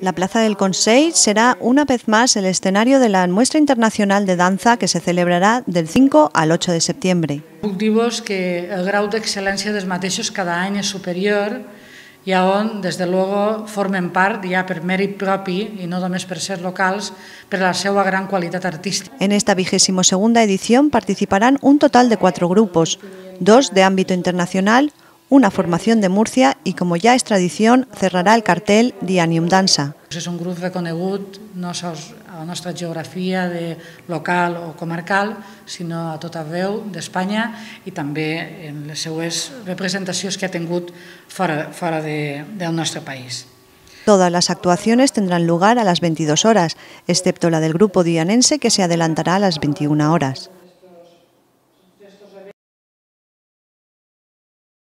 La Plaza del Consell será una vez más el escenario de la Muestra Internacional de Danza que se celebrará del 5 al 8 de septiembre. Puc dir-vos que el grau d'excel·lència dels mateixos cada any és superior i on, des de luego, formen part ja per mèrit propi i no només per ser locals, per la seva gran qualitat artística. En esta 22ª edición participarán un total de 4 grupos, 2 de ámbito internacional, una formación de Murcia y, como ya es tradición, cerrará el cartel Dianium Dansa. És un grup reconegut no sols a la nostra geografia local o comarcal, sinó a tot arreu d'Espanya i també en les seues representacions que ha tingut fora del nostre país. Todas las actuaciones tendrán lugar a las 22 horas, excepto la del grupo dianense que se adelantará a las 21 horas.